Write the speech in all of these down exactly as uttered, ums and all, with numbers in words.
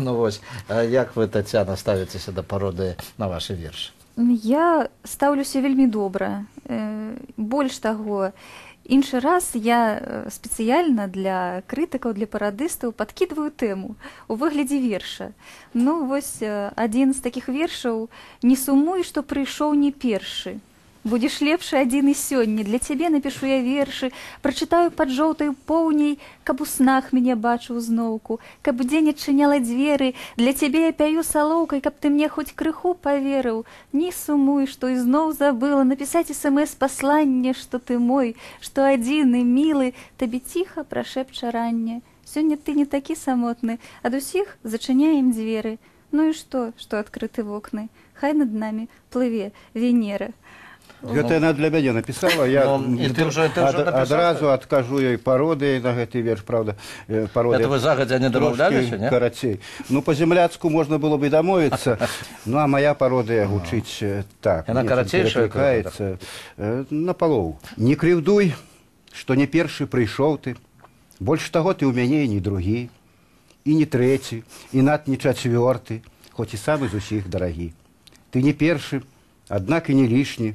Ну вось, а як вы, Тацяна, ставіцеся да пародыі на вашы вершы? Я стаўлюся вельмі добра. Э, Больш таго, іншы раз я э, спецыяльна для крытыкаў, для парадыстаў падкідваю тэму у выглядзе верша. Ну вось э, адзін з такіх вершаў: «Не сумуй, што прыйшоў не першы. Будзеш лепшы адзін і сёння, для цябе напішу я вершы, прачытаю пад жоўтаю поўняй, каб у снах мяне бачыў зноўку, каб дзень адчыняла дзверы, для цябе я пяю салоўкай, каб ты мне хоць крыху паверыў. Не сумуй, што ізноў забыла напісаць эс-эм-эс пасланне, што ты мой, што адзіны, мілы, табе ціха прашэпча ранне. Сёння ты не такі самотны, ад усіх зачыняем дзверы. Ну і што, што адкрыты вокны? Хай над намі плыве Венера». Гэта яна для мяне напісала, я адразу адкажу ёй пародыяй на гэты верш, правда, пародыя. Это вы загадзя не дамаўляліся, не? Карацей. Ну, па-земляцку можна было бы і дамовіцца, ну, а моя пародыя гучыць так. Яна карацейшая? На палову. Не крыўдуй, што не першы прыйшоў ты, больш таго ты ў мяне і не другі, і не трэці, і над не чацвёрты, хоць і самы з усіх дарагі. Ты не першы, аднак і не лішні,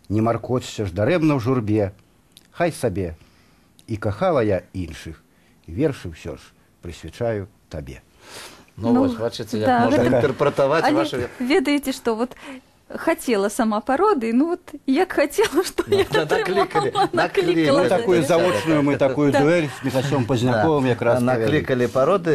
не маркоцься ж дарэмна ў журбе, хай сабе. І кахала я іншых, вершы ўсё ж прысвячаю табе. Ну, ну вось, бачыце, як да, можна інтэрпрэтаваць вашы... Ведаеце, што вот хотела сама пародыі, ну вот як хотела, што я атрымала, наклікала. Такую заочную мы такую дуэль з Міхасём Пазняковым якраз наклікалі пародыі.